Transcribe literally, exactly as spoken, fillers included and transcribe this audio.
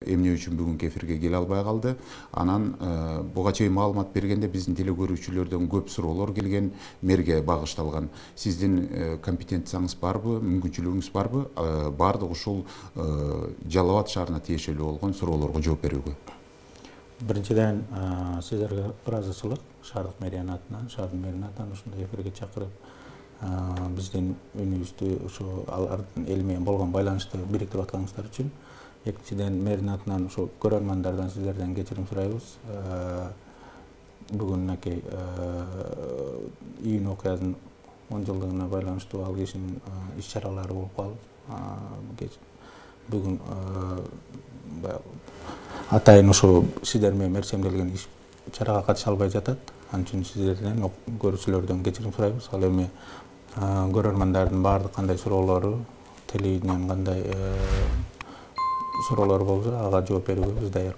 Эмне үчүн бүгүнкү эфирге келе албай калды. Анан буга чейин маалымат бергенде биздин теле көрүүчүлөрдөн көп суроолор келген, мэрге багышталган. Сиздин компетенцияңыз барбы, мүмкүнчүлүгүңүз барбы? Бардык ушул Жалал Абад шаарына тиешелүү болгон суроолорго жооп берүүгө. Биринчиден сиздерге ыраазычылык шаардык мэриянын атынан, шаардын мэринин атынан ушундай эфирге чакырып, биздин үнүбүздү ушу алардын эл менен болгон байланышты бириктирип атканыңыздар үчүн. Экинчиден мэрдин атынан ушу көрөрмандардан сиздерден кечирим сурайбыз. Бүгүн мынакей июнь окуясынын он жылдыгына байланыштуу ал кишинин иш чаралары болуп калды. Бүгүн атайын ушу сиздер менен мерчемделген иш чарага катыша албай жатат. Ал үчүн сиздерден көрүүчүлөрдөн кечирим сурайбыз. Ал эми көрөрмандардын баардык кандай суроолору, телевидениянын кандай суроолору болсо ага жооп берүүгө биз даяр.